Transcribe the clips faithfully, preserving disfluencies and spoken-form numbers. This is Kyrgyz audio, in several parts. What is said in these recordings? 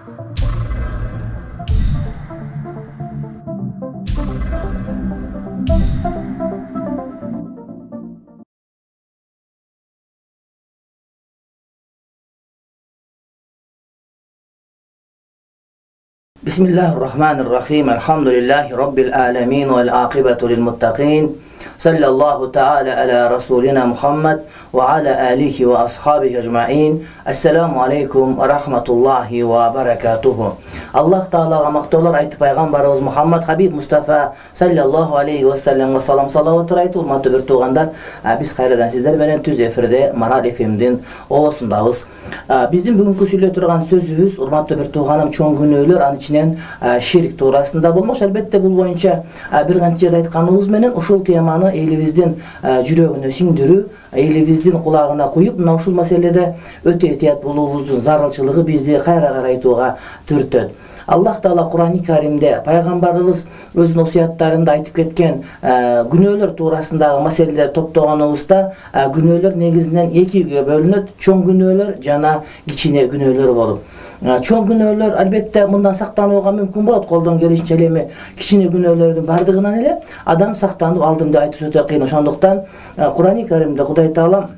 Bismillahirrahmanirrahim. Elhamdülillahi Rabbil alemin vel aqibatu lil muttaqin. Sallallahu ta'ala ala rasulina Muhammed ve ala alihi ve ashabihi ecma'in. Assalamu alaikum ve rahmetullahi ve berekatuhu. Allah Ta'alaga maqtovlar aytib paygambarыбыз Muhammed Habib Mustafa sallallahu aleyhi ve sellem ve salam salavatlar aytып, urmatlı bir tuğandar, biz kayradan sizler menen tüz efirde Maral F M'din oosundabız. Биздин бүгүнкү сүйлөй турган сөзүбүз, урматтуу бир тууганым, чоң күнөөлөр, анын ичинен ширк туурасында болмок. Албетте бул боюнча бир канча жерде айтканыбыз менен ушул теманы элибиздин жүрөгүнө сиңдирүү, элибиздин кулагына куюп, мына ушул маселеде өтө этият болуубуздун зарылчылыгы бизди кайра карайтууга түртөт. Аллах Таала Кур'ан-ы Каримде пайгамбарыбыз өзүнүн осуяттарында айтып кеткен күнөөлөр туурасындагы маселелерди топтогонубузда күнөөлөр негизинен экиге бөлүнөт: чоң күнөөлөр жана кичине күнөөлөр болуп. Чоң күнөөлөр албетте мындан сактанууга мүмкүн болот, колдон келишинче эми кичине күнөөлөрдүн бардыгынан эле адам сактанып алдым деп айтуу өтө кыйын. Ошондуктан Кур'ан-ы Каримде Кудай Таала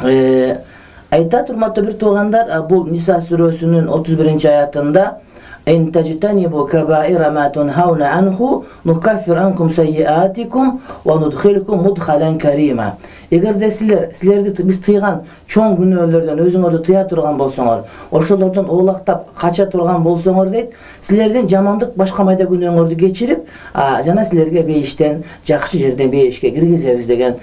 айтат, урматтуу бир туугандар, бул Ниса сүрөсүнүн отуз биринчи аятында: «Эн тажтанибу кабаира ма тунхауна анху нукаффир анкум сайyiатикум ва нудхилкум мудхалан карима». Эгерде силер силерди биз тыйган чоң күнөөлөрдөн өзүңөрдү тыя турган болсоңор, ошолордон оолактап кача турган болсоңор дейт, силердин жамандык башка майда күнөөңөрдү кечирип, жана силерге бейиштен жакшы жерден бейишке киргизебиз деген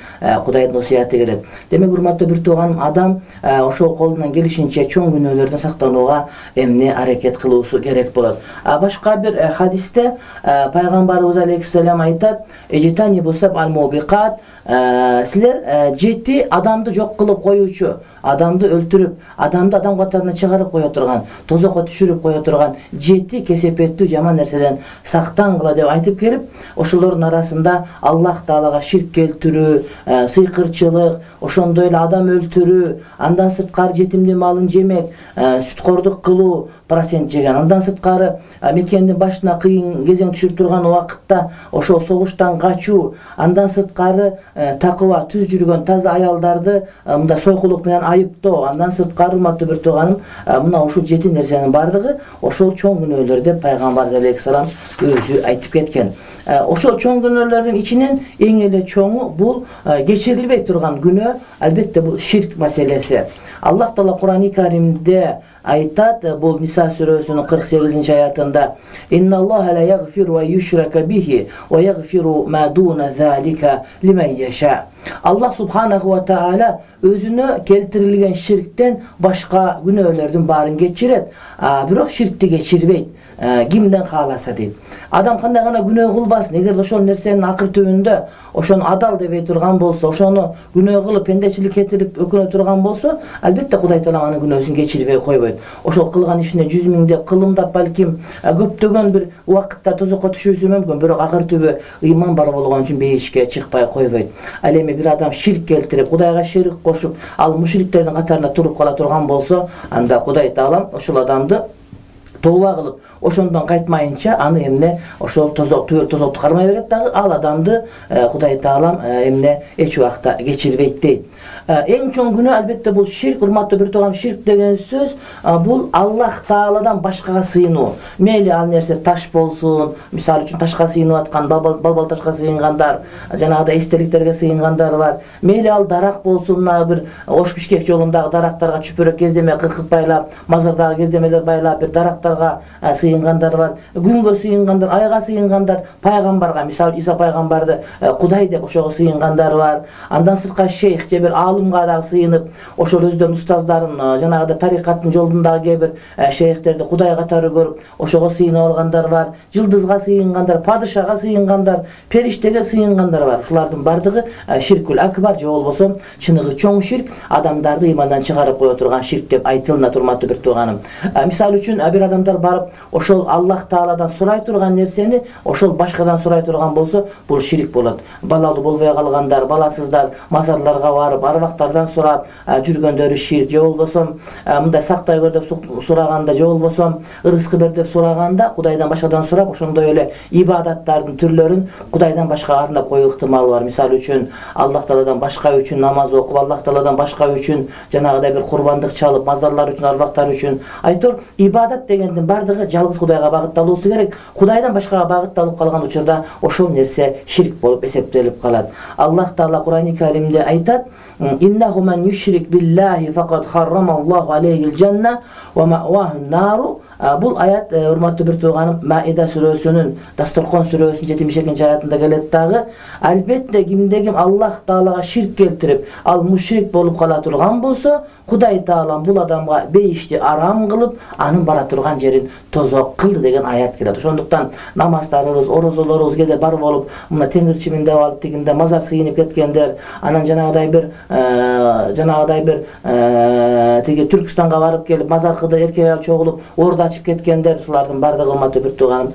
Кудайдын осуяты келет. Демек, урматтуу бир тууганым, адам ошол колунан келишинче чоң күнөөлөрдөн сактанууга эмне аракет кылуусу керек болот. Башка бир хадисте пайгамбарыбыз алейхиссалам айтат: «Эжитани бусаб ал-мубиқат». Силер жети адамды жок кылып коюучу, адамды өлтүрүп, адамды адам катарына чыгарып кое турган, тозокко түшүрүп кое турган жети кесепеттүү жаман нерседен сактангыла деп айтып келип, ошолордун арасында Аллах Таалага ширк келтирүү, сыйкырчылык, ошондой эле адам өлтүрүү, андан сырткары жетимдин малын жемек, сүткордук кылуу, процент жеген, андан сырткары мекендин башына кыйын кезең түшүп турган убакытта ошол согуштан качуу, андан сырткары такыба түз жүргөн таза аялдарды мында сойкулук менен айыптоо, андан сырткары, урматтуу бир тууганым, мына ушул жети нерсенин бардыгы ошол чоң күнөөлөр деп пайгамбар алейхиссалам өзү айтып кеткен. Ошол чоң күнөөлөрдүн ичинен эң эле чоңу бул кечирилбей турган күнөө, албетте бул ширк маселеси. Аллах Таала Кур'ан-ы Каримде айтат, бул Ниса сүрөсүнүн кырк сегизинчи аятында: «Инналлаха ла ягфиру ва юшрака бихи ва ягфиру ма дуна залика лиман яша». Аллах Субханаху ва Таала өзүнө келтирилген ширктен башка күнөөлөрдүн баарын кечирет, бирок ширкти кечирбейт кимден кааласа дейт. Адам кандай гана күнөө кылбасын, эгер ошол нерсенин акыр түбүндө ошону адал дебей турган болсо, ошону күнөө кылып пендечилик кетирип өкүнө турган болсо, албетте Кудай Таала анын күнөөсүн кечирбей койбойт. Ошол кылган ишине жүз миңдеп, кылымдап, балким көптөгөн бир убакытта тозокко түшүүсү мүмкүн, бирок акыр түбү ыйман бар болгон үчүн бейишке чыкпай койбойт. Ал эми бир адам ширк келтирип, Кудайга шерик кошуп, ал мушриктердин катарына туруп кала турган болсо, анда Кудай Таала ошол адамды тооба кылып, ошондон кайтмайынча аны эмне ошол тозок түбөл тозокту кармай берет дагы, ал адамды Кудай Таалам эмне эч убакта кечирбейт дейт. Эң чоң күнөө албетте бул ширк. Урматтуу бир тууган, ширк деген сөз бул Аллах Тааладан башкага сыйынуу. Мейли ал нерсе таш болсун, мисалы үчүн ташка сыйынып аткан, балбал ташка сыйынгандар, жанагыдай эстеликтерге сыйынгандар бар. Мейли ал дарак болсун, мына бир Ош Бишкек жолундагы дарактарга чүпүрөк кездеме кыркып байлап, мазардагы кездемелер байлап, бир дарактарга сыйынгандар бар, күнгө сыйынгандар, айга сыйынгандар, пайгамбарга, мисалы Иса пайгамбарды Кудай деп ошого сыйынгандар бар. Андан сырткары шейх же бир алымга да сыйынып, ошол өздөрүнүн устаздарын, жанагыдай тарикаттын жолундагы кээ бир шейхтерди Кудай катары көрүп, ошого сыйынып алгандар бар. Жылдызга сыйынгандар, падышага сыйынгандар, периштеге сыйынгандар бар. Ушулардын бардыгы ширкул акбар, же болбосо чыныгы чоң ширк, адамдарды ыймандан чыгарып кое турган ширк деп айтылынат, урматтуу бир тууганым. Мисалы үчүн бир адамдар барып ошол Аллах Тааладан сурай турган нерсени ошол башкадан сурай турган болсо, бул ширк болот. Балалуу болбой калгандар, баласыздар мазарларга барып, арбактардан сурап жүргөндөрү ширк, же болбосо мындай сактай көр деп сураганда, же болбосо ырыскы бер деп сураганда Кудайдан башкадан сурап, ошондой эле ибадаттардын түрлөрүн Кудайдан башка арнап коюу ыктымалы бар. Мисалы үчүн Аллах Тааладан башка үчүн намаз окуп, Аллах Тааладан башка үчүн жанагыдай бир курбандык чалып, мазарлар үчүн, арбактар үчүн. Айтор, ибадат дегендин бардыгы жалгыз Кудайга багытталуусу керек. Кудайдан башкага багытталып калган учурда ошол нерсе ширк болуп эсептелип калат. Аллах Таала Кур'ан-ы Каримде айтат: "Иннаху ман юшрик биллахи факад харрамаллаху алейхил жанна ва маъвахун нару". Бул аят, урматтуу бир тууганым, Маида сүрөсүнүн Дасторкон сүрөсүнүн жетимиш экинчи аятында келет дагы. Албетте кимде ким Аллах Таалага ширк келтирип, ал мушрик болуп кала турган болсо, Кудай Таала бул адамга бейишти арам кылып, анын бара турган жерин тозок кылды деген аят келет. Ошондуктан намаздарыбыз, орозолорубуз кеде бар болуп, мына теңирчиминде алып тигинде мазар сыйынып кеткендер, анан жанагыдай бир жанагыдай бир тиги Түркстанга барып келип, мазар кылды, эркек аял чогулуп, орда ачып кеткендер, шулардын бардыгы урматтуу бир тууганым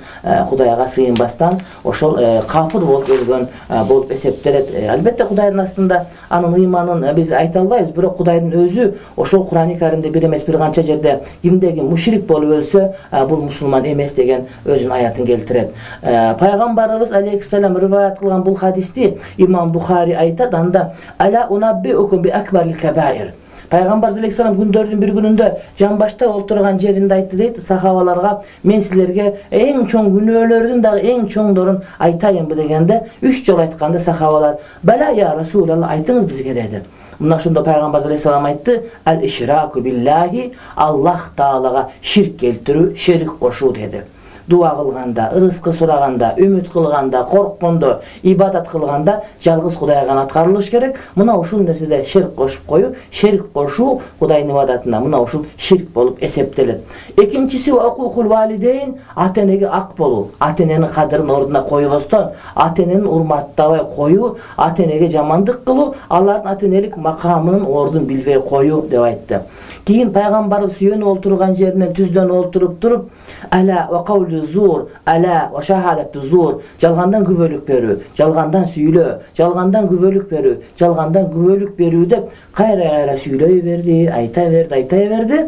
Кудайга сыйынбастан ошол капыр болуп өлгөн болуп эсептелет. Албетте Кудайдын астында анын ыйманын биз айта албайбыз, бирок Кудайдын өзү ошол Кур'ан-ы Каримде бир эмес бир канча жерде кимде ким мушрик болуп өлсө, бул мусулман эмес деген өзүнүн аятын келтирет. Пайгамбарыбыз алейхиссалам риваят кылган бул хадисти Имам Бухари айтат, анда "Ала унаббиукум би акбарил кабаир". Пайгамбар алейхиссалам күндөрдүн бир күнүндө жамбашта олтурган жеринде айтты дейт сахабаларга: "Мен силерге эң чоң күнөөлөрдүн дагы эң чоңдорун айтайынбы" дегенде, үч жолу айтканда сахабалар: "Бала я Расулалла, айтыңыз бизге" деди. Мына ошондо Пайгамбар алейхиссалам айтты: "Ал-ишраку биллахи", Аллах Таалага ширк келтирүү, шерик кошуу деди. Дуа кылганда, ырыскы сураганда, үмүт кылганда, корккондо, ибадат кылганда жалгыз Кудайга гана аткарылыш керек. Мына ушул нерседе ширк кошуп коюу, ширк кошуу Кудайдын ибадатына мына ушул ширк болуп эсептелет. Экинчиси уакукул валидейн, ата-энеге ак болуу, ата-эненин кадырын ордуна койбостон, ата-энени урматтабай коюу, ата-энеге жамандык кылуу, алардын ата-энелик макамынын ордун билбей коюу деп айтты. Кийин пайгамбарыбыз сүйөнүп олтурган жеринен түздөн олтуруп туруп: "Ала ва кавлу зур, ала ва шахадату зур", жалгандан күбөлүк берүү, жалгандан сүйлөө, жалгандан күбөлүк берүү, жалгандан күбөлүк берүү деп кайра-кайра сүйлөй берди, айта берди, айта берди.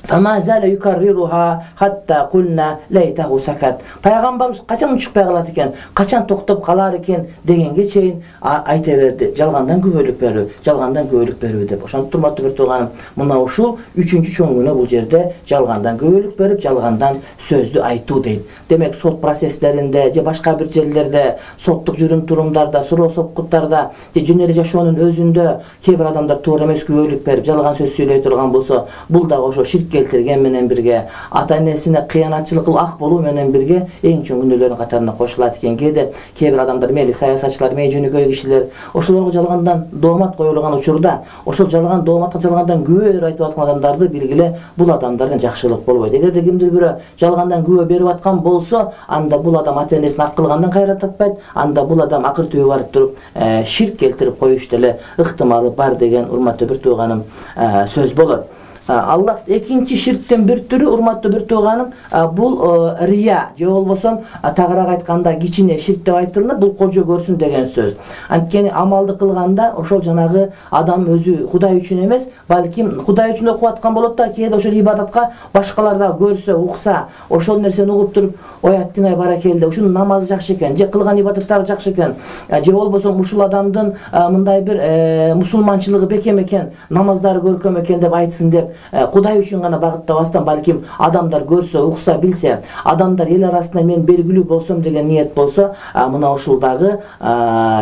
Фама зала юкаррируха хатта кулна лайтаху сакат. Пайгамбарыбыз качан учукпай калат экен, качан токтоп калар экен дегенге чейин айта берди. Жалгандан күбөлүк берүү, жалгандан күбөлүк берүү деп. Ошондуктан урматтуу бир тууганым, мына ушул үчүнчү чоң күнөө бул жерде жалгандан күбөлүк берип, жалгандан сөздү айтуу дейт. Демек сот процесстеринде же башка бир жерлерде, соттук жүрүм турумдарда, суроо сопкуттарда же жөн эле жашоонун өзүндө кээ бир адамдар туура эмес күбөлүк берип, жалган сөз сүйлөй турган болсо, бул дагы ошо ширк келтирген менен бирге, ата-энесине кыянатчылык кылып ак болуу менен бирге эң чоң күнөөлөрдүн катарына кошулат экен. Кээде кээ бир адамдар, мейли саясатчылар, мейли жөнөкөй кишилер, ошолорго жалгандан доомат коюлган учурда, ошол жалган дооматка жалгандан күбө берип айтып аткан адамдарды билгиле, бул адамдардан жакшылык болбойт. Эгерде кимдир бирөө жалгандан күбө берип аткан болсо, анда бул адам ата-энесин ак кылгандан кайра таппайт, анда бул адам акыр түбү барып туруп ширк келтирип коюш деле ыктымалы бар деген урматтуу бир тууганым сөз болот. Аллах экинчи ширктен бир түрү, урматтуу бир тууганым, бул рия же болбосо тагыраак айтканда кичине ширк деп айтылат. Бул кожо көрсүн деген сөз. Анткени амалды кылганда ошол жанагы адам өзү Кудай үчүн эмес, балким Кудай үчүн окуп аткан болот да, кээде ошол ибадатка башкалар да көрсө, укса, ошол нерсени угуп туруп, ой аттинай баракелде, ушунун намазы жакшы экен, же кылган ибадаттары жакшы экен, же болбосо ушул адамдын мындай бир мусулманчылыгы бекем экен, намаздары көркөм экен деп айтсын деп Кудай үчүн гана багыттабастан, балким адамдар көрсө, укса, билсе, адамдар эл арасында мен белгилүү болсом деген ниет болсо, мына ушул дагы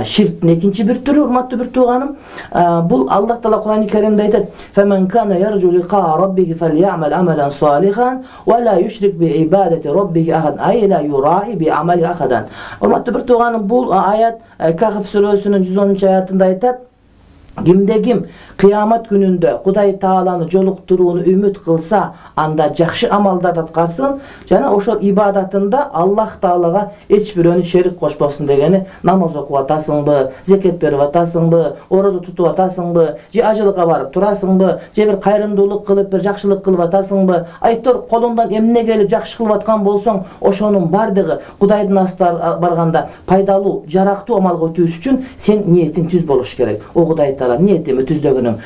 ширктин экинчи бир түрү, урматтуу бир тууганым. Бул Аллах Таала Кур'ан-ы Каримде айтат: "Фаман кана яржу лиқа раббихи фальямал амалан салихан ва ла юшрик би ибадати раббихи ахад", ай ла юраи би амали ахадан. Урматтуу бир тууганым, бул аят Кахф сүрөсүнүн жүз онунчу аятында айтат: Кимде ким кыямат күнүндө Кудай Тааланы жолуктурууну үмүт кылса, анда жакшы амалдарды аткарсын, жана ошол ибадатында Аллах Таалага эч бирөөнү шерик кошпосун дегени, намаз окуп атасыңбы, зекет берип атасыңбы, орозо тутуп атасыңбы, же ажылыкка барып турасыңбы, же бир кайрымдуулук кылып, бир жакшылык кылып атасыңбы, айтор колуңдан эмне келип жакшы кылып аткан болсоң, ошонун бардыгы Кудайдын астына барганда пайдалуу, жарактуу амалга өтүүсү үчүн сен ниетиң түз болуш керек. О Кудай таала ниетими түздөгөнүм.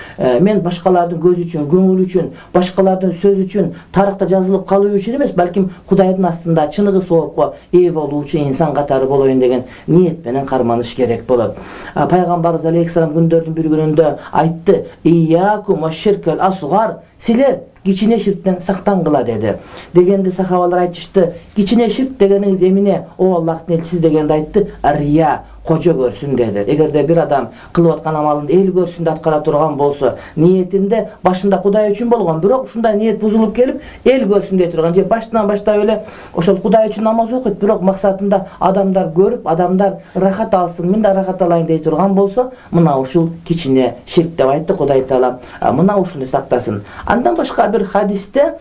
Мен башкалардын көзү үчүн, көңүл үчүн, башкалардын сөзү үчүн, тарыхта жазылып калуу үчүн эмес, балким Кудайдын астында чыныгы соопко ээ болуучу инсан катары болоюн деген ниет менен карманыш керек болот. Пайгамбарыбыз алейхиссалам күндөрдүн бир күнүндө айтты: "Ийякум ва-ширкал асгар", силер кичине ширктен сактангыла деди. Дегенде сахабалар айтышты: "Кичине ширк дегениңиз эмне, о Аллахтын элчиси?" дегенде айтты: "Рия, кожо көрсүн" деди. Эгерде бир адам кылып аткан амалын эл көрсүн деп аткара турган болсо, ниетинде башында Кудай үчүн болгон, бирок ушундай ниет бузулуп келип, эл көрсүн дей турган, же баштан баштап эле ошол Кудай үчүн намаз окуйт, бирок максатында адамдар көрүп, адамдар рахат алсын, мен да рахат алайын дей турган болсо, мына ушул кичине ширк деп айтты Кудай таала. Мына ушуну сактасын. Андан башка бир хадисте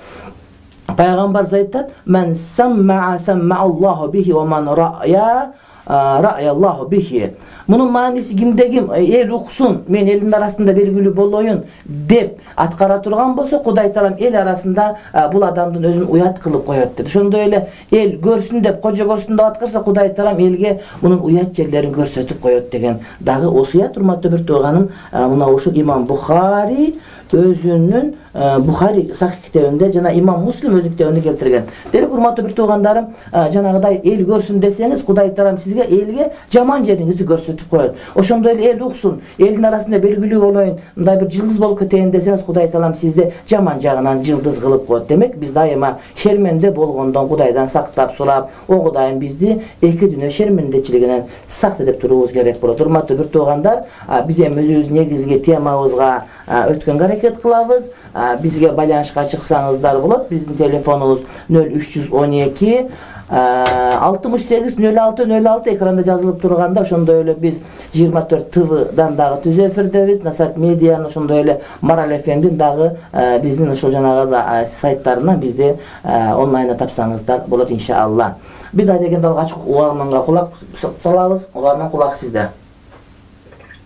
пайгамбар айтат: "Мен самма самма Аллаху бихи ва ман рая рая Аллаху бихи". Мунун мааниси кимде ким эл уксун, мен элдин арасында белгилүү болоюн деп аткара турган болсо, Кудай таалам эл арасында бул адамдын өзүн уят кылып коет dedi. Ошондой эле эл көрсүн деп, кожо көрсүн деп аткарса, Кудай таалам элге мунун уят жерлерин көрсөтүп коет деген дагы осуят. Урматтуу бир тууганым, мына ушул Имам Бухари өзүнүн Бухари Сахих китебинде жана Имам Муслим өзүнүн китебинде келтирген. Демек, урматтуу бир туугандарым, жанагыдай эл көрсүн десеңиз, Кудай таалам сизге элге жаман жериңизди көрсөтүп коет. Ошондой эле эл уксун, элдин арасында белгилүү болоюн, мындай бир жылдыз болуп кетейин десеңиз, Кудай таалам сизди жаман жагынан жылдыз кылып коет. Демек, биз дайыма шерменде болгондон Кудайдан сактап сурап, о Кудайым бизди эки дүйнө шермендечилигинен сакта деп туруубуз керек болот. Урматтуу бир туугандар, биз эми өзүбүздүн негизги темабызга өткөнгө аракет кылабыз. Бизге байланышка чыксаңыздар болот. Биздин телефонубуз нөл үч жүз он эки алтымыш сегиз нөл алты нөл алты экранда жазылып турганда, ошондой эле биз жыйырма төрт тэ вдан дагы түз эфирдебиз. Насат медианын, ошондой эле Марал эф эмдин дагы биздин ошол жанагы сайттарынан бизди онлайнда тапсаңыздар болот иншалла. Биз да дегенде алгач угарманга кулак салабыз. Угарман, кулак сизде.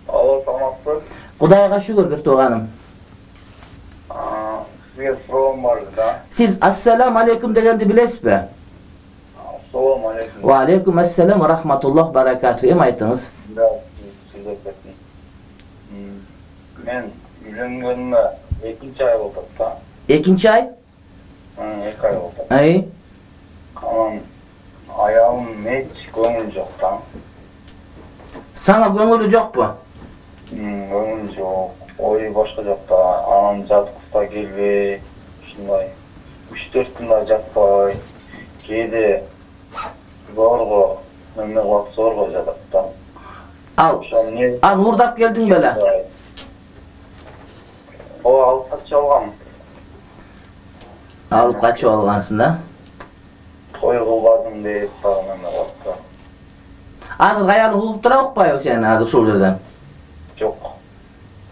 Алло, саламатсызбы? Кудайга шүгүр, бир тууганым. Сизге суроом бар да. Сиз ассаламу алейкум дегенди билесизби? Ассаламу алейкум. Ва алейкум ассалам ва рахматуллах баракату. Эми айтыңыз. Да, сиз айтасыз. Мен үйлөнгөнүмө экинчи ай болду да. Экинчи ай? эки ай болду. Ай. Анан аялым эч көңүл жок да. Сага көңүлү жокпу? Көңүл жок. Ой башка жакта, анан жаткыста келбей, ушундай үч төрт күндө жатпай, кээде зорго, эмне кылат, зорго жатат да. Ал, ал мурдап келдиң беле? О, алып качып алгам. Алып качып алгансың да? Той кылбадым деп дагы эмне кылат да. Азыр аялы угуп тура укпайбы сени азыр ушул жерде? Жок.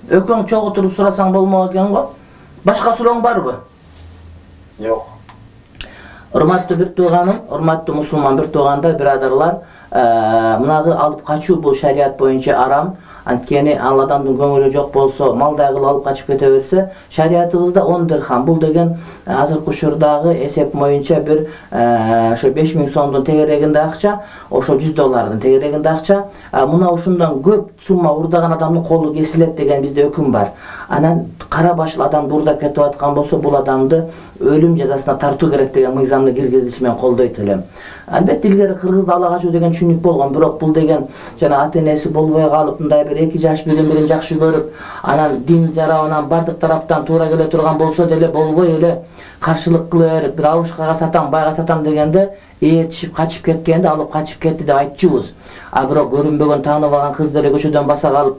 Өкөң чогуу туруп сурасаң болмок экен го. Башка сурооң барбы? Жок. Урматтуу бир тууганым, урматтуу мусулман бир туугандар, бирадарлар, мынагы алып качуу бул шарият боюнча арам. Анткени ал адамдын көңүлү жок болсо, малдай кылып алып качып кете берсе, шариятыбызда он дирхам. Бул деген азыркы учурдагы эсеп боюнча бир ошо беш миң сомдун тегерегинде акча, ошо жүз доллардын тегерегинде акча. Мына ушундан көп сумма урдаган адамдын колу кесилет деген бизде өкүм бар. Анан кара башыл адам бурдап кетип аткан болсо, бул адамды өлүм жазасына тартуу керек деген мыйзамды киргизилиши менен колдойт элем. Албетте илгери кыргызда ала качуу деген түшүнүк болгон, бирок бул деген жана ата энеси болбой калып, мындай бир эки жаш бирин бирин жакшы көрүп, анан дин жарабынан бардык тараптан туура келе турган болсо деле болбой эле каршылык кыла берип, бир абышкага сатам, байга сатам дегенде ээртишип качып кеткенде алып качып кетти деп айтчубуз. А бирок көрүнбөгөн таанып алган кыз деле көчөдөн баса калып,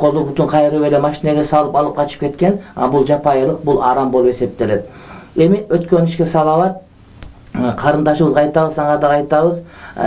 колу бутун кайрып эле машинеге салып алып качып кеткен, бул жапайылык, бул арам болуп эсептелет. Эми өткөн ишке салават. Карындашыбызга айтабыз, ага да айтабыз.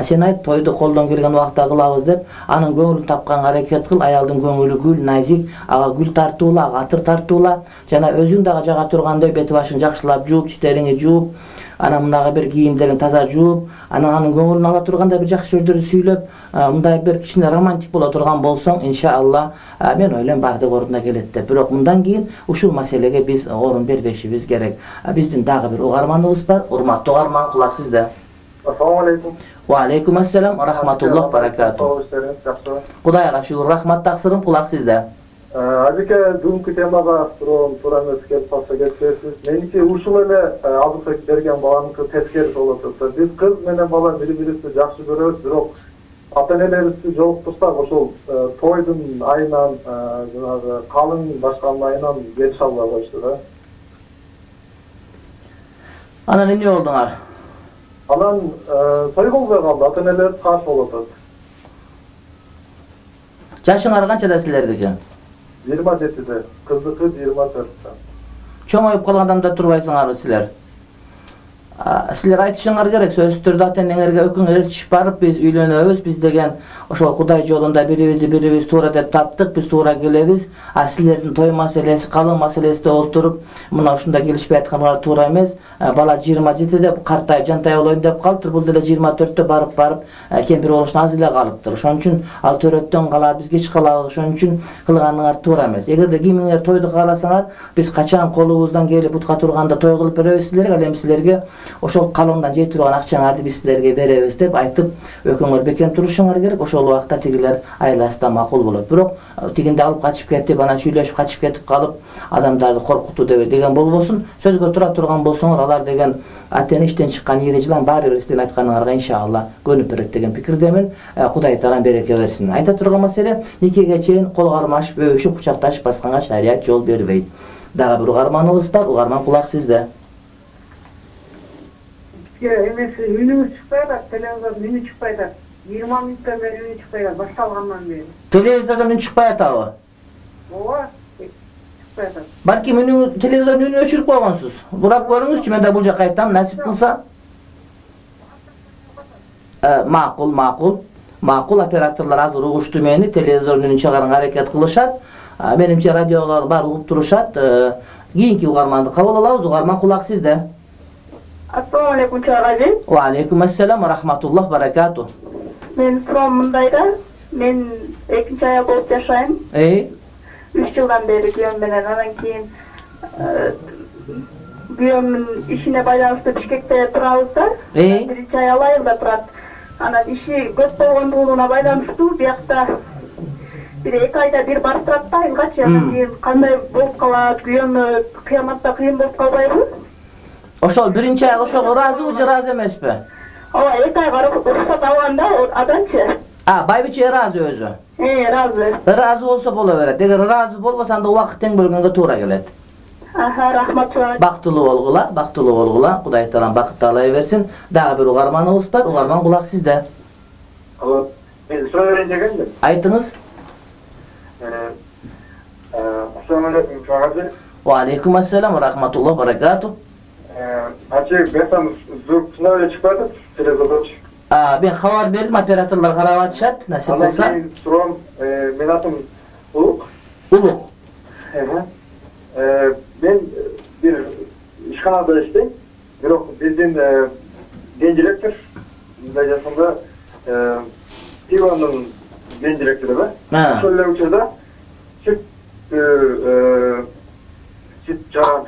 Сен айт, тойду колдон келген убакта кылабыз деп, анын көңүлүн тапканга аракет кыл. Аялдын көңүлү гүл, назик, ага гүл тартуула, ага атыр тартуула. Жана өзүң дагы жага тургандай бети башын жакшылап жууп, тиштериңи жууп, анан мынагы бир кийимдерин таза жууп, анан анын көңүлүн ала тургандай бир жакшы сөздөрдү сүйлөп, мындай бир кичине романтик боло турган болсоң, иншалла, мен ойлойм бардык ордуна келет деп. Бирок мындан кийин ушул маселеге биз орун бербешибиз керек. Биздин дагы бир угарманыбыз бар. Урматтуу угарман, кулак сизде. Ассаламу алейкум. Ва алейкум ассалам ва рахматуллах баракату. Кудайга шүгүр, рахмат, таксырым, кулак сизде. Азыркы бүгүнкү темага суроо туура эмес келип калса кетесиз. Меники ушул эле азыркы берген баланыкы тескери болуп атат. Биз кыз менен бала бири-бирибизди жакшы көрөбүз, бирок ата-энелерибизди жолуктурсак ошол тойдун айынан, жанагы калың башканын айынан келише албай коюшту да. Анан эмне болдуңар? Анан той болбой калды, ата-энелер каршы болуп атат. Жашыңар канчада силердики? жыйырма жетиде, кыздыкы жыйырма төрттө. Чоңоюп калган адамда турбайсыңарбы силер? Силер айтышыңар керек, сөзсүз түрдө ата-энеңерге өкүңөр ээрчишип барып, биз үйлөнөбүз, биз деген ошол Кудай жолунда бирибизди бирибиз туура деп таптык, биз туура келебиз. А силердин той маселеси, калың маселесиде олтуруп, мына ушунда келишпей атканга туура эмес. Бала жыйырма жетиде картайып, жантайып болоюн деп калыптыр, бул деле жыйырма төрттө барып-барып кемпир болуштан аз эле калыптыр. Ошон үчүн ал төрөттөн калат, биз кеч калабыз. Ошон үчүн кылганыңар туура эмес. Эгерде кимиңер тойду кааласаңар, биз качан колубуздан келип бутка турганда той кылып беребиз силерге, ал эми силерге ошол калыңдан жей турган акчаңарды биз силерге беребиз деп айтып, өкүңөр бекем турушуңар керек. Ошол убакта тигилер айласында макул болот. Бирок тигинде алып качып кетип, анан сүйлөшүп качып кетип калып, адамдарды коркутуу деген болбосун. Сөзгө тура турган болсоңор, алар деген ата-эне иштен чыккан ири жылан баары бир сиздин айтканыңарга иншалла көнүп берет деген пикирдемин. Кудай таалам береке берсин. Айта турган маселе, никеге чейин кол кармашып, өбүшүп, кучакташып басканга шарият жол бербейт. Дагы бир угарманыбыз бар, угарман кулак сизде. Эмеси үнүңүз чыкпай атат, телевизордон үнү чыкпай атат. жыйырма мүнөттөн бери үнү чыкпай атат, башталгандан бери. Телевизордон үнү чыкпай атабы? Ооба, чыкпай атат. Балким үнү телевизордун үнүн өчүрүп койгонсуз. Бурап көрүңүзчү, мен да бул жака айтам, насип кылса. Макул, макул. Макул, операторлор азыр угушту мени, телевизордун үнүн чыгарганга аракет кылышат. Менимче радиолор бар угуп турушат. Кийинки угарманды кабыл алабыз. Угарман кулак сизде. Ассаламу алейкум чыгарачы. Ва алейкум ассалам ва рахматуллах баракату. Мен суроом мындайда, мен экинчи аял болуп жашайм. Эй? үч жылдан бери күйөөм менен, анан кийин күйөөмдүн ишине байланыштуу Бишкекте турабыз да. Эй? Биринчи аял айылда турат. Анан иши көп болгондугуна байланыштуу биякта бир эки айда бир барып турат да айылгачы. Анан кийин кандай болуп калат, күйөөмө кыяматта кыйын болуп калбайбы? Ошол биринчи аял ошого ыраазыбы же ыраазы эмеспи? Ооба, эки айга уруксат алганда аданчы. А, байбиче ыраазы өзү? Э, ыраазы. Ыраазы болсо боло берет. Эгер ыраазы болбосо анда убакыт тең бөлгөнгө туура келет. Аха, рахмат. Бактылуу болгула, бактылуу болгула. Кудай таалам бакыт таалай берсин. Дагы бир угарманыбыз бар. Угарман кулак сизде. Алло, мен суроо берейин дегенмин. Айтыңыз. Э, ассаламу алейкум чыгарачы. Ва алейкум ассалам ва рахматуллах баракату. Ачы бесам звукна эле чыкпай атат, телевизордочу. А, мен кабар бердим, операторлор карап атышат, насип кылса. Анан суром, мен атым Улук. Улук. Э, мен бир ишканада иштейм, бирок биздин ген директор мындай жасында пивонун ген директору да. Ошол эле учурда сүт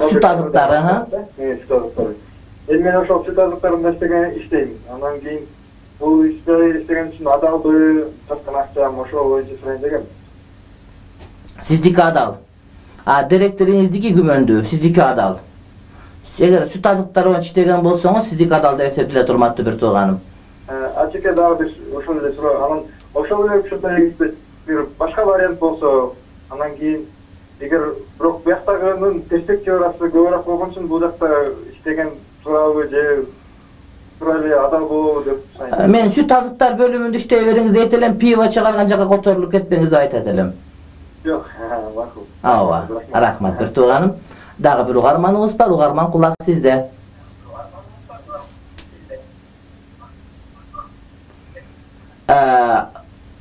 Süt azıkları, ha? Evet, süt azıkları. Elim ben ошол süt azıklarında iştegen işteyim. Ondan keyin bu işte iştegen için adaldı, çatkan akçam, ошол boyunca süren degem. Sizdiki adal. A, direktorinizdiki gümöndü, sizdiki adal. Eğer süt azıkları iştegen bolsoňuz, sizdiki adal dep eseptile turmatdy bir tuğanım. Açıkça daha bir ошол эле суроо. Анан ошол эле учурда bir başka variant bolsa, анан keyin эгер бирок бияктагынын перспективасы көбүрөөк болгон үчүн бул жакта иштеген туурабы же туура эле адал болобу деп сурайм. Мен сүт азыктар бөлүмүндө иштей бериңиз дейт элем, пиво чыгарган жака которулуп кетпеңиз деп айтат элем. Жок, макул. Ооба, рахмат бир тууганым. Дагы бир угарманыбыз бар, угарман кулак сизде.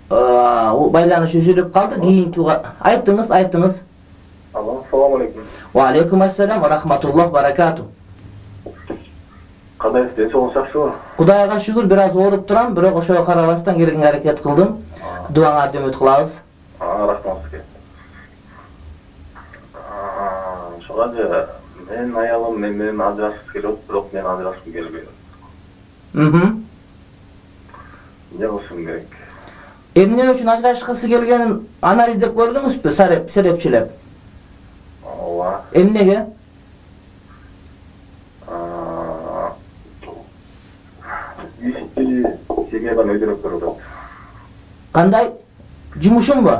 Байланыш үзүлүп калды. Кийинки айтыңыз, айтыңыз. Assalamu alaikum. Wa alaikum assalam wa rahmatullah barakatuh. Кандай ден соолугуңуз жакшыбы? Кудайга шүгүр, бир аз ооруп турам, бирок ошого карабастан келгенге аракет кылдым. Дуаңарды үмүт кылабыз. Рахмат сизге. Ошого мен аялым мен менен ажырашып келип, бирок мен ажырашкым келбейт. Мхм. Эмне кылышым керек? Эмне үчүн ажырашкысы келгенин анализдеп көрдүңүзбү, сареп, серепчилеп? Ооба. Эмнеге? Ишти семьядан өйдөрөп көрөт. Кандай? Жумушуңбу?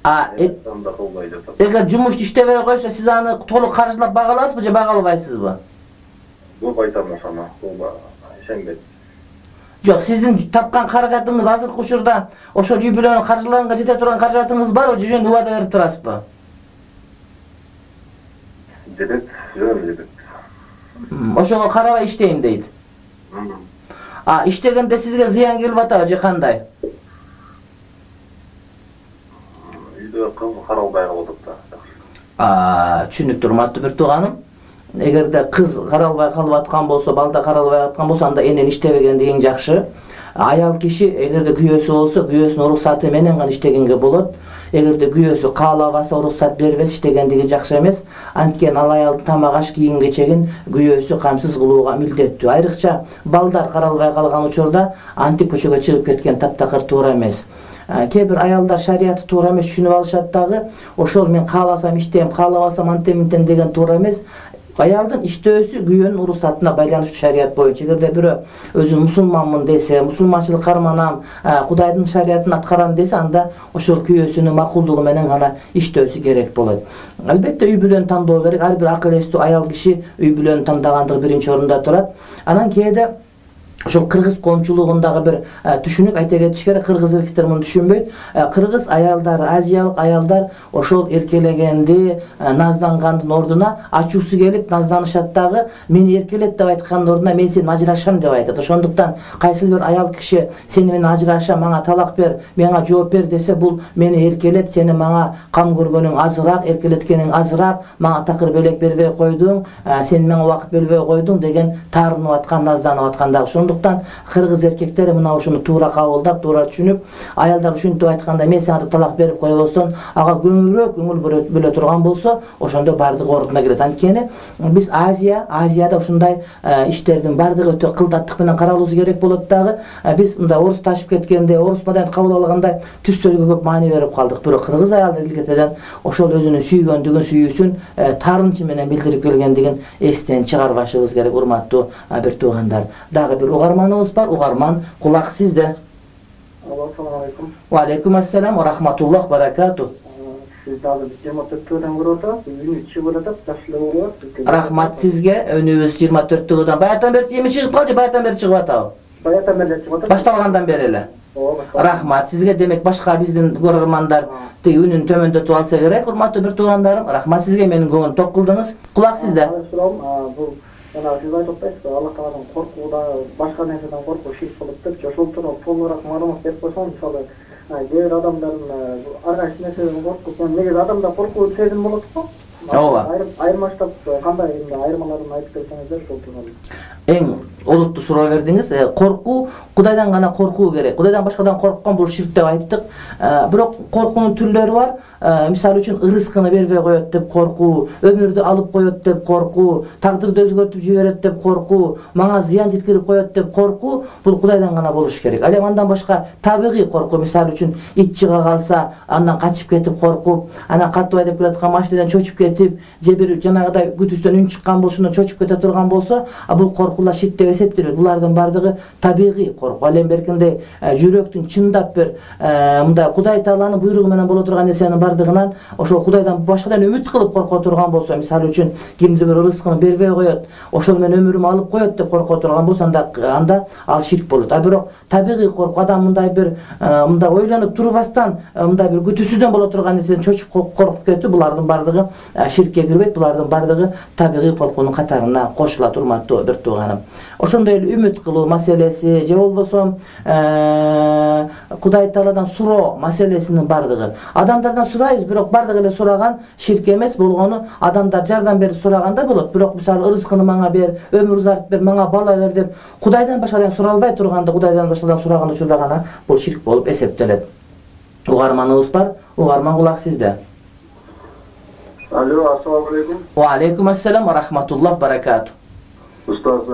А, эгер жумуш иштебей койсо, сиз аны толук каржылап бага аласызбы же бага албайсызбы? Көп айтам ошону, ооба, ишенбейт. Жок, сиздин тапкан каражатыңыз азыркы учурда ошол үй бүлөнү каржылаганга жете турган каражатыңыз барбы, же жөн убада берип турасызбы? Жетет, жөн жетет. Ошого карабай иштейм дейт. А, иштегенде сизге зыян келип атабы же кандай? Үйдө кыз каралбай калып атат да. А, түшүнүктүү, урматтуу бир тууганым. Эгерде кыз каралбай калып аткан болсо, балда каралбай аткан болсо, анда энен иштебегенди эң жакшы. Аял киши эгерде күйөөсү болсо, күйөөсүнүн уруксаты менен гана иштегенге болот. Эгерде күйөөсү каалабаса, уруксат бербес, иштегендиги жакшы эмес. Анткени ал аялдын тамак аш кийим кечегин күйөөсү камсыз кылууга милдеттүү. Айрыкча балдар каралбай калган учурда антип көчөгө чыгып кеткен таптакыр туура эмес. Кээ бир аялдар шариятты туура эмес түшүнүп алышат дагы. Ошол мен кааласам иштейм, каалабасам антем-мынтем деген туура эмес. Аялдын иштөөсү күйөөнүн уруксатына байланыштуу шарият боюнча. Эгерде бирөө өзүн мусулманмын десе, мусулманчылык карманам, Кудайдын шариятын аткарам десе, анда ошол күйөөсүнүн макулдугу менен гана иштөөсү керек болот. Албетте үй бүлөнү тандоо керек. Ар бир акыл эстүү аял киши үй бүлөнү тандагандыгы биринчи орунда турат. Анан кээде ошол кыргыз коомчулугундагы бир түшүнүк айта кетиш керек. Кыргыз эркектер муну түшүнбөйт. Кыргыз аялдары, азиялык аялдар ошол эркелегенди, наздангандын ордуна ачуусу келип назданышат дагы. Мени эркелет деп айткандын ордуна мен сени ажырашам деп айтат. Ошондуктан кайсы бир аял киши сени менен ажырашам, мага талак бер, мага жооп бер десе, бул мени эркелет, сени мага кам көргөнүң азыраак, эркелеткениң азыраак, мага такыр белек бербей койдуң, сен мага убакыт бөлбөй койдуң деген таарынып аткан, назданып аткан дагы. Ошондуктан кыргыз эркектери мына ушуну туура кабылдап, туура түшүнүп, аялдар ушинтип айтканда мен сага талак берип койбостон, ага көңүлүрөөк көңүл бөлө турган болсо, ошондо бардыгы ордуна келет. Анткени биз Азия, Азияда ушундай иштердин бардыгы өтө кылдаттык менен каралуусу керек болот дагы. Биз мындай орус ташып кеткенде, орус маданият кабыл алгандай түз сөзгө көп маани берип калдык. Бирок кыргыз аялдар илгертеден ошол өзүнүн сүйгөндүгүн, сүйүүсүн таарынчы менен билдирип келгендигин эстен чыгарбашыбыз керек, урматтуу бир туугандар. Дагы бир угарманыбыз бар. Угарман, кулак сизде. Ассаламу алейкум. Ва алейкум ассалам ва рахматуллах баракату. Сиз дагы жыйырма төрттөн көрүп атасыз. Үнү чыгып атат, жакшы эле болот. Рахмат сизге. Өнүбүз жыйырма төрттөн. Баятан бери эми чыгып калды, баятан бери чыгып атабы? Баятан бери чыгып атат. Башталгандан бери эле. Рахмат сизге. Демек башка биздин көрөрмандар тиги үнүн төмөндөтүп алса керек. Урматтуу бир туугандарым, рахмат сизге, менин көңүл ток кылдыңыз. Кулак сизде. Бул жана сиз айтып атасыз, Аллах Тааладан коркууда, башка нерседен коркуу ширк болот деп, ошол тууралуу толугураак маалымат берип койсоң, мисалы, кээ бир адамдардын ар кайсы нерседен коркуп, негизи адамда коркуу сезим болот го. Ооба. Айырмаштап кандай айырмаларын айтып берсеңиздер ошол тууралуу. Эң олуттуу суроо бердиңиз. Коркуу Кудайдан гана коркуу керек. Кудайдан башкадан корккон бул ширк деп айттык. Бирок коркуунун түрлөрү бар. Мисалы үчүн рызкыны бербей коет деп коркуу, өмүрдү алып коет деп коркуу, тагдырды өзгөртүп жиберет деп коркуу, мага зыян жеткирип коет деп коркуу, бул Кудайдан гана болуш керек. Ал эми андан башка табигый коркуу, мисалы үчүн ит чыга калса, андан качып кетип коркуп, анан катуу айдап келаткан машинадан чочуп кетип, же бир жанагыдай күтүстөн үн чыккан болушунан чочуп кете турган болсо, бул коркуулар ширк деп эсептелет. Булардын бардыгы табигый коркуу. Ал эми беркинде жүрөктүн чындап бир мындай Кудай Тааланын буйругу менен боло турган нерсенин бардыгынан ошол Кудайдан башкадан үмүт кылып корко турган болсо, мисалы үчүн кимдир бир рызкын бербей коет, ошол менен өмүрүмү алып коет деп корко турган болсо, анда анда ал ширк болот. А бирок табигый корку, адам мындай бир мындай ойлонуп турбастан, мындай бир күтүүсүздөн боло турган нерседен чочуп коркуп кетүү, булардын бардыгы ширкке кирбейт. Булардын бардыгы табигый коркуунун катарына кошулат, урматтуу бир тууганым. Ошондой эле үмүт кылуу маселеси, же болбосо Кудай Тааладан суроо маселесинин бардыгы. Адамдардан сурайбыз, бирок бардыгы эле сураган ширк эмес болгону, адамдар жардам берип сураганда болот. Бирок мисалы рызкыны мага бер, өмүр узартып бер, мага бала бер деп Кудайдан башкадан суралбай турганда, Кудайдан башкадан сураган учурда гана бул ширк болуп эсептелет. Угарманыбыз бар. Угарман, кулак сизде. Алло, ассаламу алейкум. Ва алейкум ассалам ва рахматуллах баракату. Устаз,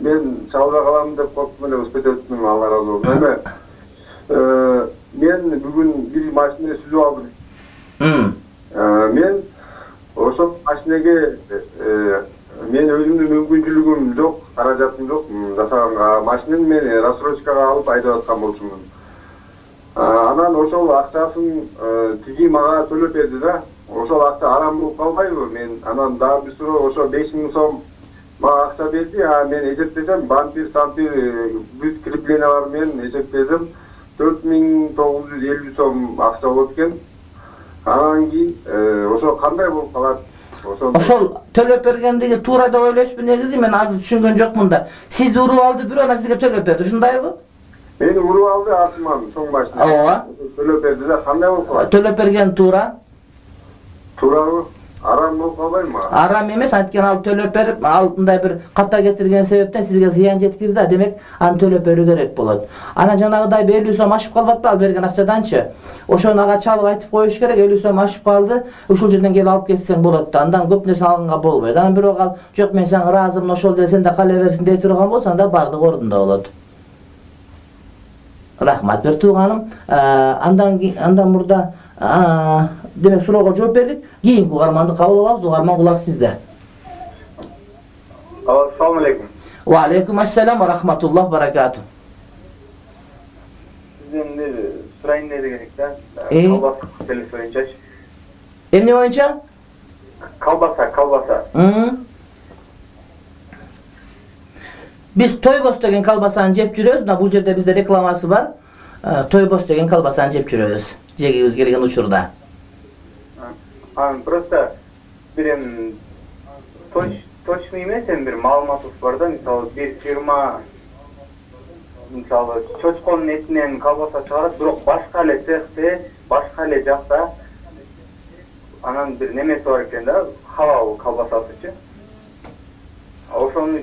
мен чалга калам деп коркуп эле өспөтөптүм, Алла ыраазы болсун. Эми мен бүгүн бир машина сүзүп алдым. Мен ошол машинеге мен өзүмдүн мүмкүнчүлүгүм жок, каражатым жок жасаганга. Машинени мен рассрочкага алып айдап аткан болчумун. Анан ошол акчасын тиги мага төлөп берди да. Ошол акча арам болуп калбайбы? Мен анан дагы бир суроо, ошо беш миң сом мага акча берди, а мен эсептесем, бампир, сампир, бүт креплениялар менен эсептесем, төрт миң тогуз жүз элүү сом акча болот экен. Анан кийин ошо кандай болуп калат? Ошол төлөп бергендиги туура деп ойлойсузбу? Негизи мен азыр түшүнгөн жокмун да. Сизди уруп алды бирөө, анан сизге төлөп берди, ушундайбы? Мени уруп алды артыман чоң машина. Ооба. Төлөп берди да, кандай болуп калат? Төлөп берген туура. Туурабы? Арам болуп калбайбы? Арам эмес, анткени ал төлөп берип, ал мындай бир ката кетирген себептен сизге зыян жеткирди да, демек аны төлөп берүү керек болот. Ана жанагыдай элүү сом ашып калбатпы ал берген акчаданчы? Ошону ага чалып айтып коюш керек, элүү сом ашып калды, ушул жерден келип алып кетсең болот да. Андан көп нерсе алганга болбойт. Анан бирок ал жок мен сага ыраазымын, ошол деле сен да кала берсин дей турган болсо, анда бардыгы ордунда болот. Рахмат бир тууганым. Андан андан мурда демек суроого жооп бердик. Кийинки угарманды кабыл алабыз. Угарман кулак сизде. Ассаламу алейкум. Ва алейкум ассалам ва рахматуллах баракату. Сизден бир сурайын дегенек да. Колбаса маселеси боюнчачы. Эмне боюнча? Колбаса, колбаса. Биз Тойбос деген колбасаны жеп жүрөбүз. Мына бул жерде бизде рекламасы бар. Тойбос деген колбасаны жеп жүрөбүз. Жегибиз келген учурда. Анан просто бир эми точно эмес, эми бир маалыматыбыз бар да, мисалы бир фирма мисалы чочконун этинен колбаса чыгарат, бирок башка эле цехте, башка эле жакта анан бир немеси бар экен да, халал колбасасычы. Ошону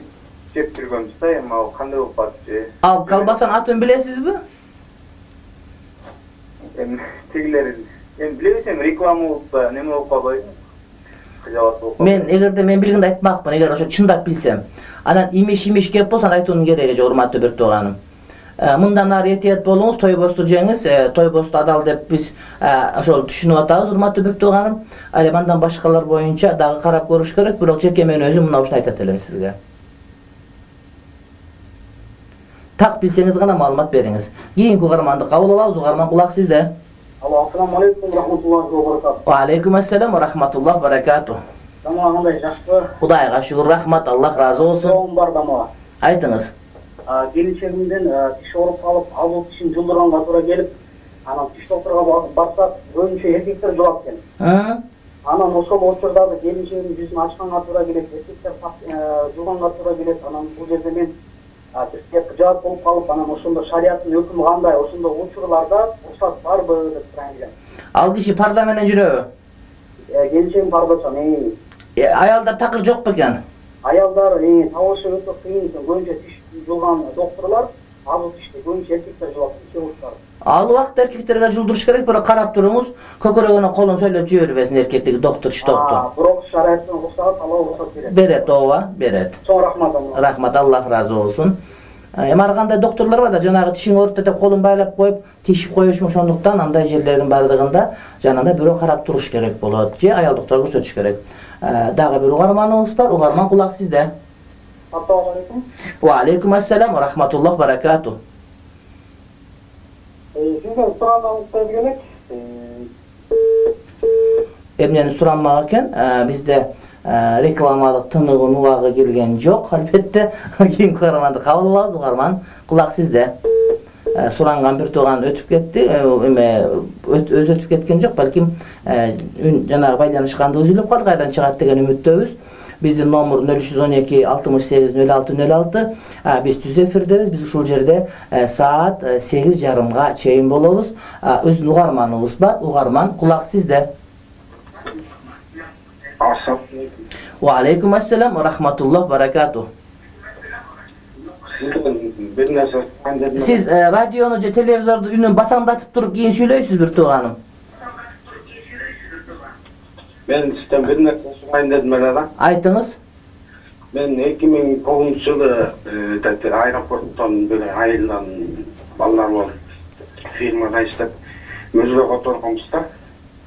жеп жүргөнбүз да, эми ал кандай болуп атчы? Ал колбасанын атын билесизби? Эми тигилер эми билебесем реклама болуп да неме болуп калбайбы? Мен эгерде мен билгенди айтмакмын, эгер ошо чындап билсем. Анан имиш-имиш кеп болсо айтуунун кереги жок, урматтуу бир тууганым. Мындан ары этият болуңуз, Тойбосту жеңиз. Тойбосту адал деп биз ошол түшүнүп атабыз, урматтуу бир тууганым. Ал эми андан башкалар боюнча дагы карап көрүш керек, бирок жеке мен өзүм мына ушуну айтат элем сизге. Так билсеңиз гана маалымат бериңиз. Кийинки угарманды кабыл алабыз. Угарман кулак сизде. Алло, ассаламу алейкум ва рахматуллахи ва баракатуh. Ва алейкум ассалам ва рахматуллахи ва баракатуh. Тамак кандай, жакшыбы? Кудайга шүгүр, рахмат, Аллах разы болсун. Суроом бар да мага. Айтыңыз. Келинчегимден тиш ооруп калып, ал тишин жылдырганга туура келип, анан тиш докторуна барсак, көбүнчө эркектер жугат экен. Анан ошол учурдагы келинчегимдин жүзүн ачканга туура келет, эркектер жуганга туура келет. Анан бул жерде мен бир жаап болуп калып, анан ошондо шариаттын өкүмү кандай, ошондо учурларда уруксат барбы деп сурайын элем. Ал киши парда менен жүрөбү? Келинчегим пардачан. Аялдар такыр жок бекен? Аялдар табышы өтө кыйын экен. Көбүнчө тиш жуган докторлор азыр тишти көбүнчө эркектер жугат, хирургдар. Ал убакта эркектерге жулдуруш керек, бирок карап туруңуз, көкөрөгүнө колун сөйлөп жибербесин эркектиги доктор, тиш доктор. Бирок шариаттын уруксаты Алла уруксат берет. Берет, ооба, берет. Чоң рахмат. Рахмат, Аллах разы болсун. Эми ар кандай доктурлар бар да, жанагы тишиң ооруп деп колун байлап коюп, тишип коюшмун, ошондуктан андай жерлердин бардыгында жанагындай бирөө карап туруш керек болот, же аял доктор көрсөтүш керек. Дагы бир угарманыбыз бар, угарман кулак сизде. Ассаламу алейкум. Ва алейкум ассалам ва рахматуллах баракату. Сизден сурамагым келек. Эмнени сурамак экен? Бизде рекламалык тыныгын убагы келген жок, албетте. Кийинки угарманды кабыл алабыз. Угарман кулак сизде. Суранган бир тууган өтүп кетти, эме өзү өтүп кеткен жок, балким жанагы байланышканды үзүлүп калды, кайдан чыгат деген үмүттөбүз. Биздин номер нөл үч жүз он эки алтымыш сегиз нөл алты нөл алты. Биз түз эфирдебиз. Биз ушул жерде саат сегиз жарымга чейин болобуз. Өзүнүн угарманыбыз бар. Угарман кулак сизде. Ассаламу алейкум. Ва алейкум ассалам ва рахматуллах баракату. Сиз радиону же телевизорду үнүн басаңдатып туруп кийин сүйлөйсүз бир тууганым. Мен сизден бир нерсе сурайын дедим эле да. Айтыңыз. Мен эки миң тогузунчу жылы аэропорттон бир айылдан балдар болуп фирмада иштеп мөрзө которгонбуз да.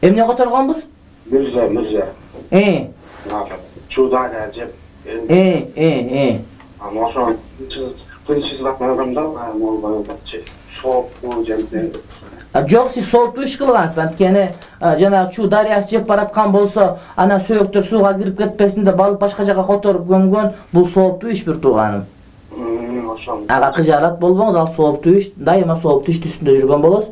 Эмне которгонбуз? Мөрзө, мөрзө. Э. Чудая жеп. Э, э, э. Аны ошо кынчылап барганда, могу бачы соопу жерде. Жок, сиз сооптуу иш кылгансыз. Анткени жана Чу дарыясы жеп бараткан болсо, анан сөөктөр сууга кирип кетпесин деп алып башка жака которуп көмгөн, бул сооптуу иш бир тууганым. Ага кыжаалат болбоңуз, ал сооптуу иш, дайыма сооптуу иш үстүндө жүргөн болосуз.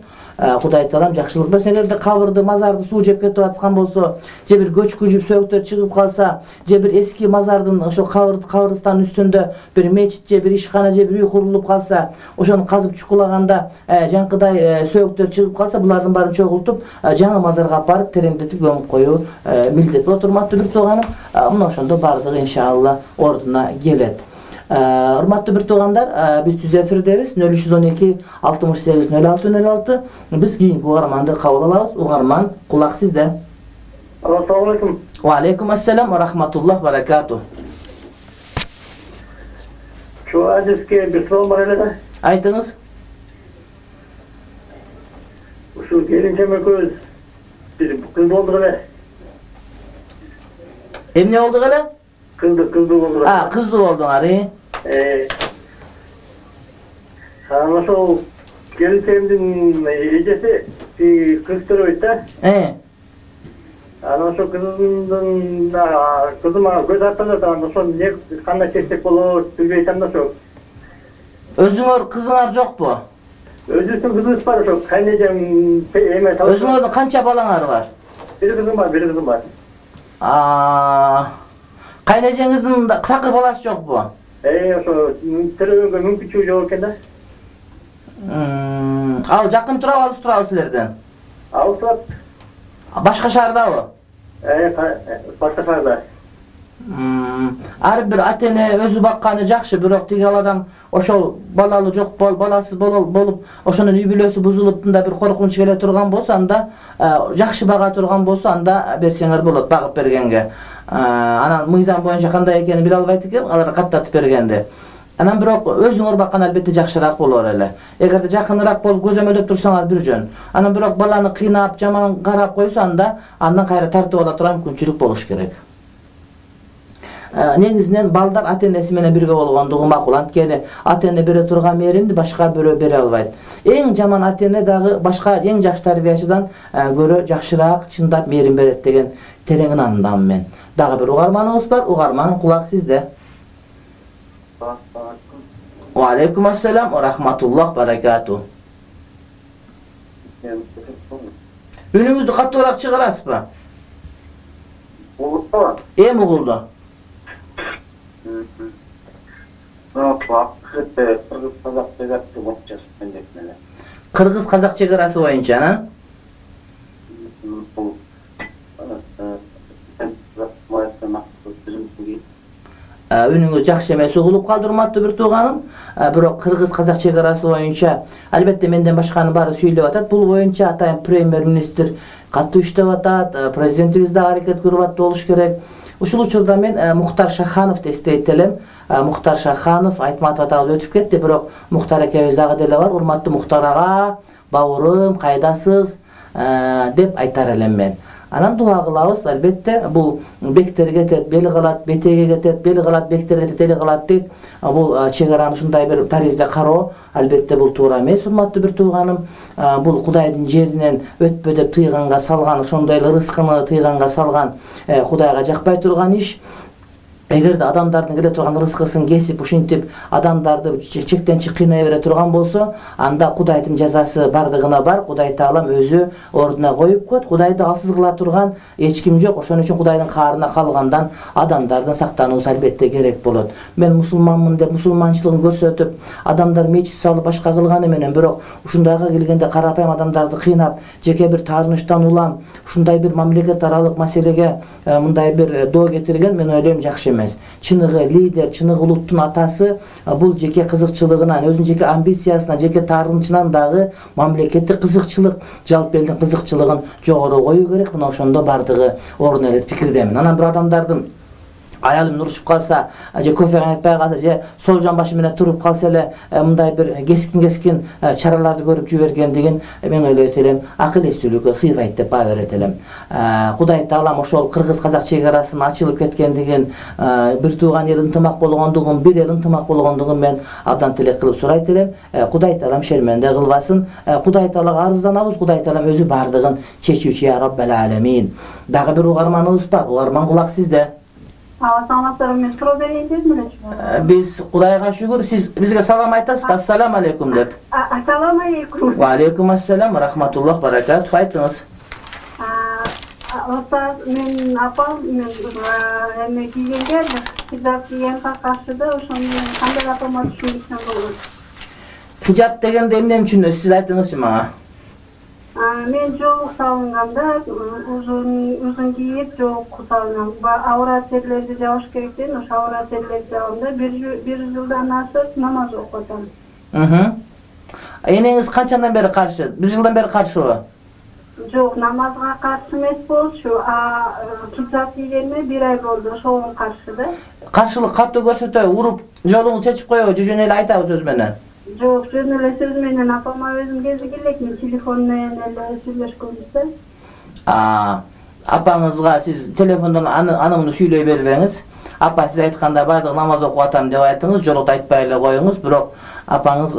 Кудай таалам жакшылык берсин. Эгерде кабырды, мазарды суу жеп кетип аткан болсо, же бир көчкү жүп сөөктөр чыгып калса, же бир эски мазардын ошол кабырды кабырстанын үстүндө бир мечит же бир ишкана же бир үй курулуп калса, ошону казып чукулаганда жанкыдай сөөктөр чыгып калса, булардын баарын чогултуп, жаңы мазарга алып барып тереңдетип көмүп коюу милдет болот. Урматтуу бир тууганым, мына ошондо баардыгы иншалла ордуна келет. Урматтуу бир туугандар, биз түз эфирдебиз. нөл үч жүз он эки алтымыш сегиз нөл алты нөл алты. Биз кийинки угарманды кабыл алабыз. Угарман, кулак сизде. Ассаламу алейкум. Ва алейкум ассалам ва рахматуллах баракату. Şu adresке bir sorum var hele de. Айтыңыз. Şu gelince köz bir kız oldu hele. Эмне болду эле? Kızdı, kızdı oldu. А, кыздуу болдуңар, э? Ee, ama şu gelinceğimizin ecesi bir kız türüydü de. Э. Ama şu kızımın kızıma göz attığında da ama şu ne kanla çekecek olur, bilmeyeceğim de şu. Өзүңөр кызыңар жокпу? Özüsün kızımız var şu, kaynayacağım emek alışıyor. Өзүңөрдүн канча балаңар бар? Bir kızım var, bir kızım var. А, кайнажеңиздин такыр баласы жокпу? Ee, şu tırıngı mümkün çocuğu yokken de. Ал жакын турабы, алыс турабы силерден? Alsat. Башка шаардабы? Ee, başka şarda. Ар бир ата-эне өзү бакканы жакшы, бирок тиги ал адам ошол балалы жок бол, баласыз болуп, ошонун үй бүлөсү бузулуп да бир коркунуч келе турган болсо, анда жакшы бага турган болсо, анда берсеңер болот, багып бергенге. Анан мыйзам боюнча кандай экенин биле албайт экем, алар каттатып бергенде. Анан бирок өзүңөр баккан албетте жакшыраак болор эле. Эгерде жакыныраак болуп көзөмөлдөп турсаңар бир жөн. Анан бирок баланы кыйнап, жаман карап койсо, анда андан кайра тартып ала турган мүмкүнчүлүк болуш керек. Негизинен балдар ата-энеси менен бирге болгондугу макул. Анткени ата-эне бере турган мээримди башка бирөө бере албайт. Эң жаман ата-эне дагы башка эң жакшы тарбиячыдан көрө жакшыраак чындап мээрим берет деген терең ынандамын мен. Дагы бир угарманыбыз бар. Угарман, кулак сизде. Ва алейкум ассалам ва рахматуллах баракату. Үнүңүздү каттуураак чыгарасызбы? Угулду. Эми угулду. Кыргыз казак чегарасы боюнча, анан? Үнүңүз жакшы эмес угулуп калды, урматтуу бир тууганым. Бирок кыргыз казак чегарасы боюнча, албетте менден башканын баары сүйлөп атат. Бул боюнча атайын премьер-министр катуу иштеп атат, президентибиз да аракет көрүп атты болуш керек. Ушул учурда мен Мухтар Шахановду эстейт элем. Мухтар Шаханов Айтматов атабыз өтүп кетти, бирок Мухтар экөөбүз дагы деле бар. Урматтуу Мухтар ага, бауырым, кайдасыз деп айтар элем мен. Анан дуа кылабыз, албетте бул бектерге кетет, бел калат, бетеге кетет, бел калат, бектерге кетет, эл калат дейт. Бул чегараны ушундай бир таризде кароо, албетте бул туура эмес, урматтуу бир тууганым. Бул Кудайдын жеринен өтпө деп тыйганга салган, ошондой эле рызкыны тыйганга салган, Кудайга жакпай турган иш. Эгерде адамдардын келе турган рызкысын кесип, ушинтип адамдарды чектен чык кыйнай бере турган болсо, анда Кудайдын жазасы бардыгына бар. Кудай таалам өзү ордуна коюп коет. Кудайды алсыз кыла турган эч ким жок. Ошон үчүн Кудайдын каарына калгандан адамдардын сактануусу албетте керек болот. Мен мусулманмын деп мусулманчылыгын көрсөтүп, адамдар мечит салып башка кылганы менен, бирок ушундайга келгенде карапайым адамдарды кыйнап, жеке бир таарынычтан улам, ушундай бир мамлекет аралык маселеге мындай бир доо кетирген, мен ойлойм жакшы эмес. Чыныгы лидер, чыныгы улуттун атасы бул жеке кызыкчылыгынан, өзүнүн жеке амбициясынан, жеке таарынычынан дагы мамлекеттик кызыкчылык, жалпы элдин кызыкчылыгын жогору коюу керек. Мына ошондо бардыгы ордуна элет пикирдемин. Анан бир адамдардын аялым урушуп калса, же кофе кайнатпай калса, же сол жамбашы менен туруп калса эле мындай бир кескин-кескин чараларды көрүп жибергендигин мен ойлойт элем, акыл эстүүлүккө сыйбайт деп баа берет элем. Кудай Таалам ошол кыргыз-казак чек арасынын ачылып кеткендигин, бир тууган эл ынтымак болгондугун, бир эл ынтымак болгондугун мен абдан тилек кылып сурайт элем. Кудай Таалам шерменде кылбасын. Кудай Таалага арызданабыз. Кудай Таалам өзү бардыгын чечүүчү я Раббал аламин. Дагы бир угарманыбыз бар. Угарман кулак сизде. Саламатсыздар, мен суроо берейин дедим эле. Биз Кудайга шүгүр, сиз бизге салам айтасыз. Ассаламу алейкум деп. Ассаламу алейкум. Ва алейкум ассалам, рахматуллах, баракат. Айтыңыз. Остаз, мен апам, мен эме кийгенге, хиджаб кийгенге каршы да, ошону кандай апама түшүндүрсөм болот. Хиджаб дегенде эмнени түшүнөсүз? Сиз айтыңызчы мага. Мен жоолук салынганда узун узун кийип жоолук салынам. Аврат жерлерди жабыш керек дейм, ошо аврат жерлерди жабганда бир жылдан ашык намаз окуп атам. Энеңиз канчадан бери каршы? Бир жылдан бери каршыбы? Жок, намазга каршы эмес болчу, а хиджаб кийгениме бир ай болду, ошого каршы да. Каршылык катуу көрсөтө, уруп жолуңузду чечип коебу, же жөн эле айтабы сөз менен? Жок, жөн эле сөз менен апама өзүм кезик элек, мен телефон менен эле сүйлөшкөнбүз да. Апаңызга сиз телефондон аны муну сүйлөй бербеңиз. Апа, сиз айтканда бардык намаз окуп атам деп айтыңыз, жолукту айтпай эле коюңуз, бирок апаңыз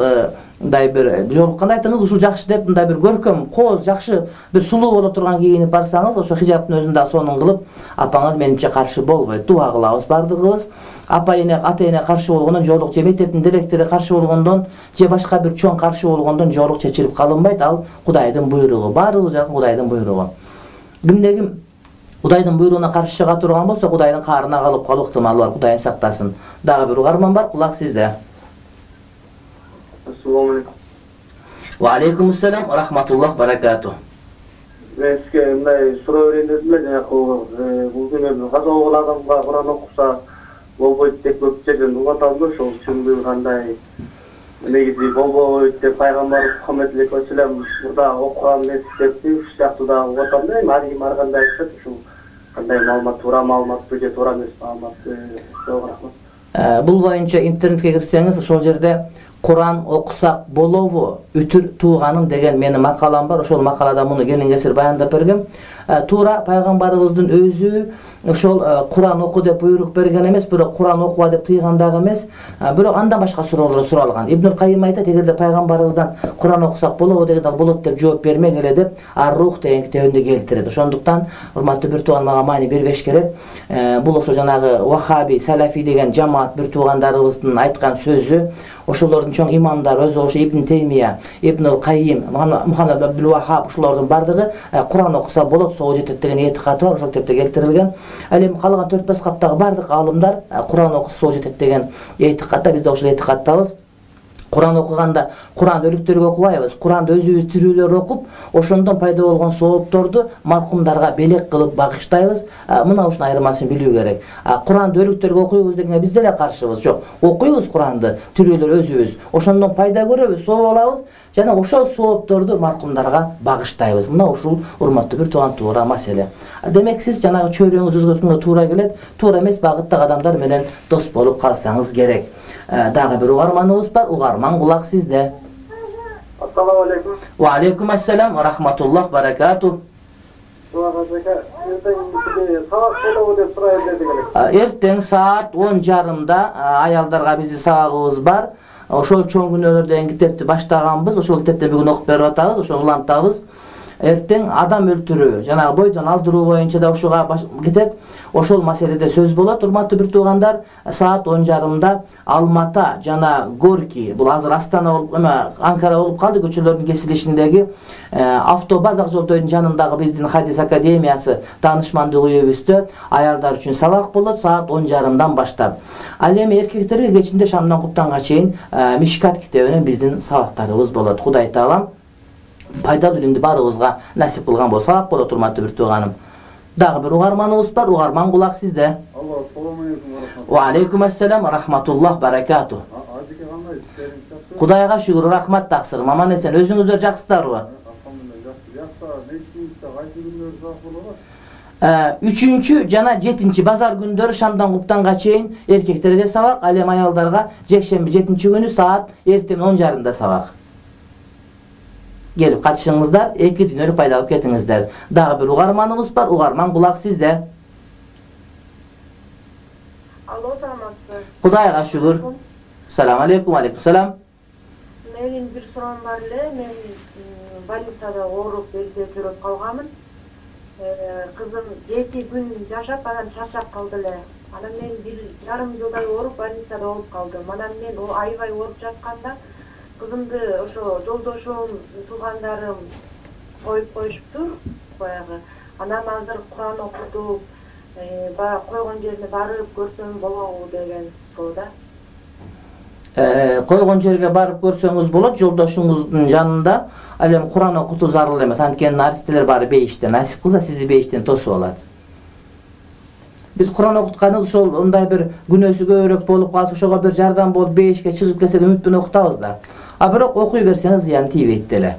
мындай бир жолукканда айтыңыз, ушул жакшы деп мындай бир көркөм, кооз, жакшы, бир сулуу боло турган кийинип барсаңыз, ошо хиджабтын өзүн да сонун кылып, апаңыз менимче каршы болбойт. Дуа кылабыз бардыгыбыз. Апа эне, ата эне каршы болгондон, жолук же мектептин директору каршы болгондон, же башка бир чоң каршы болгондон жолук чечилип калынбайт. Ал Кудайдын буйругу, баарыбыз жакын Кудайдын буйругу. Кимде ким Кудайдын буйругуна каршы чыга турган болсо, Кудайдын каарына калып калуу ыктымалы бар. Кудайым сактасын. Дагы бир угарман бар, кулак сизде. Ассаламу алейкум. Ва алейкум ассалам, рахматуллах, баракату. Мен сизге мындай суроо берейин дедим эле, жанагы бул күнү каза болгон адамга Куран окуса болбойт деп көп жерден угуп атам да, ошол чындыгы кандай? Негизи болбойт деп пайгамбар Мухаммед алейхи вассалам мурда окуган эмес депти, ушул сыяктуу да угуп атам да. Ар ким ар кандай айтат, ушул кандай маалымат, туура маалыматпы же туура эмес маалыматпы? Жок, рахмат. Бул боюнча интернетке кирсеңиз, ошол жерде Куран окусак болобу, үтүр тууганын деген менин макалам бар. Ошол макалада муну кенен кесир баяндап бергем. Туура пайгамбарыбыздын өзү ошол Куран оку деп буйрук берген эмес, бирок Куран окуба деп тыйган дагы эмес. Бирок андан башка суроолор суралган. Ибн Кайим айтат, эгерде пайгамбарыбыздан Куран окусак болобу дегенде ал болот деп жооп бермек эле деп Ар-Рух деген китебинде келтирет. Ошондуктан урматтуу бир тууган мага маани бербеш керек. Бул ошо жанагы Вахаби, Салафи деген жамаат бир туугандарыбыздын айткан сөзү. Ошолордун чоң имамдары өзү ошо Ибн Теймия, Ибн Кайим, Мухаммад Абдул Вахаб ошолордун бардыгы Куран окуса болот, соо жетет деген этикаты бар, ошол китепте келтирилген. Ал эми калган төрт беш каптагы бардык аалымдар Куран окуса соо жетет деген этикатта, биз да ошол этикаттабыз. Куран окуганда Куран өлүктөргө окубайбыз. Куранды өзүбүз тирүүлөр окуп, ошондон пайда болгон соопторду маркумдарга белек кылып багыштайбыз. Мына ушунун айырмасын билүү керек. Куранды өлүктөргө окуйбуз дегенге биз деле каршыбыз. Жок, окуйбуз Куранды, тирүүлөр өзүбүз. Ошондон пайда көрөбүз, сооп алабыз жана ошол соопторду маркумдарга багыштайбыз. Мына ушул урматтуу бир тууган туура маселе. Демек сиз жанагы чөйрөңүз өзгөрткөнгө туура келет, туура эмес багыттагы адамдар менен дос болуп калсаңыз керек. Дагы бир угарманыбыз бар, угарман кулак сизде. Ассаламу алейкум. Ва алейкум ассалам, рахматуллах, баракату. Эртең саат он жарымда аялдарга биздин сабагыбыз бар. Ошол чоң күнөөлөр деген китепти баштаганбыз. Ошол китепти бүгүн окуп берип атабыз, ошону улантабыз. Эртең адам өлтүрүү, жанагы бойдон алдыруу боюнча да ушуга кетет. Ошол маселеде сөз болот. Урматтуу бир туугандар, саат он жарымда Алмата жана Горки, бул азыр Астана болуп, эме Анкара болуп калды, көчөлөрдүн кесилишиндеги автобаз ак жолдордун жанындагы биздин Хадис академиясы таанышмандык үйүбүздө аялдар үчүн сабак болот саат он жарымдан баштап. Ал эми эркектерге кечинде шамдан куптанга чейин Мишкат китебинен биздин сабактарыбыз болот. Кудай Таалам пайдалуу илимди баарыбызга насип кылган болсо сабак болот, урматтуу бир тууганым. Дагы бир угарманыбыз бар, угарман кулак сизде. Алло, салам алейкум. Ва алейкум ассалам, рахматуллах, баракату. Ажеке кандай? Кудайга шүгүр, рахмат таксырым. Аман эсен, өзүңүздөр жакшысыздарбы? Алхамдулилlah, жакшы. Жакшы, нечинчи кайсы күндөр сабак болот? үчүнчү жана жетинчи базар күндөрү шамдан куптанга чейин эркектерге сабак, ал эми аялдарга жекшемби жетинчи күнү саат эртең он жарымда сабак. Келип катышыңыздар, эки дүйнөлүк пайда алып кетиңиздер. Дагы бир угарманыбыз бар, угарман кулак сизде. Алло, саламатсызбы? Кудайга шүгүр. Салам алейкум, алейкум салам. Менин бир суроом бар эле. Мен больницада ооруп, бельде көрүп калганмын. Кызым жети күн жашап, анан чарчап калды эле. Анан мен бир жарым жылдай ооруп, больницада болуп калдым. Анан мен о аябай ооруп жатканда кызымды ошо жолдошум, туугандарым коюп коюшту баягы. Анан азыр Куран окутуп, баягы койгон жерине барып көрсөм болобу деген суроо да. Койгон жерге барып көрсөңүз болот, жолдошуңуздун жанында. Ал эми Куран окутуу зарыл эмес. Анткени наристелер баары бейиштен, насип кылса сизди бейиштен тосуп алат. Биз Куран окутканыбыз ошол ондай бир күнөөсү көбүрөөк болуп калса, ошого бир жардам болуп бейишке чыгып келсе деп үмүт менен окутабыз да. А бирок окуй берсеңиз зыян тийбейт деле.